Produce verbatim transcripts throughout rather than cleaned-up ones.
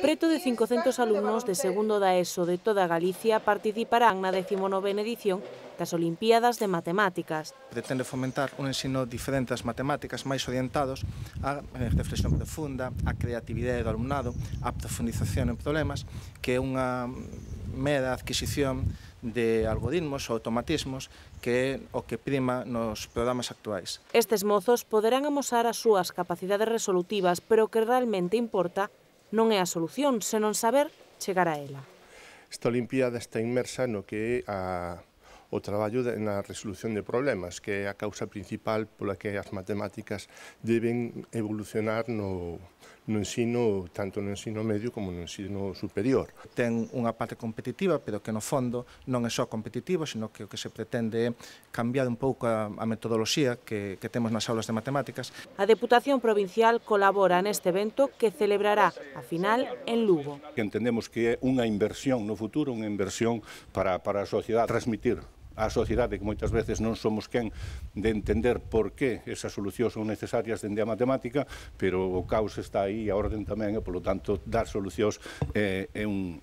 Preto de cincocentos alumnos de segundo da ESO de toda Galicia participarán na decimonovena edición das Olimpíadas de Matemáticas. Pretende fomentar un ensino diferente das matemáticas, máis orientados á reflexión profunda, á creatividade do alumnado, á profundización en problemas, que é unha mera adquisición de algoritmos ou automatismos que é o que prima nos programas actuais. Estes mozos poderán amosar as súas capacidades resolutivas, pero o que realmente importa non é a solución, senón saber chegar a ela. Esta Olimpíada está inmersa no que é a o traballo na resolución de problemas, que é a causa principal pola que as matemáticas deben evolucionar no, no ensino, tanto no ensino medio como no ensino superior. Ten unha parte competitiva, pero que no fondo non é só competitivo, sino que o que se pretende é cambiar un pouco a, a metodoloxía que, que temos nas aulas de matemáticas. A Deputación Provincial colabora neste evento que celebrará a final en Lugo. Entendemos que é unha inversión no futuro, unha inversión para, para a sociedade, transmitir á sociedade que moitas veces non somos quen de entender por que esas solucións son necesarias dende a matemática, pero o caos está aí e a orden tamén, e, polo tanto, dar solucións é, é un,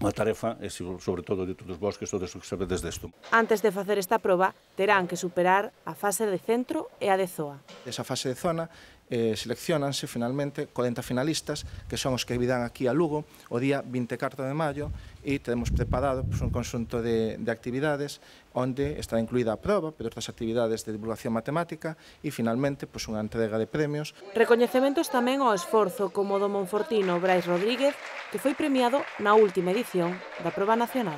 unha tarefa, e sobre todo de todos vós que sodes os que sabedes desto. Antes de facer esta proba, terán que superar a fase de centro e a de zoa. Esa fase de zona eh, seleccionanse finalmente corenta finalistas que son os que virán aquí a Lugo o día vinte e catro de maio e teremos preparado pues, un conxunto de, de actividades onde estará incluída a proba, pero outras actividades de divulgación matemática e finalmente pues, unha entrega de premios. Recoñecementos tamén ao esforzo como do monfortino Brais Rodríguez, que foi premiado na última edición da proba nacional.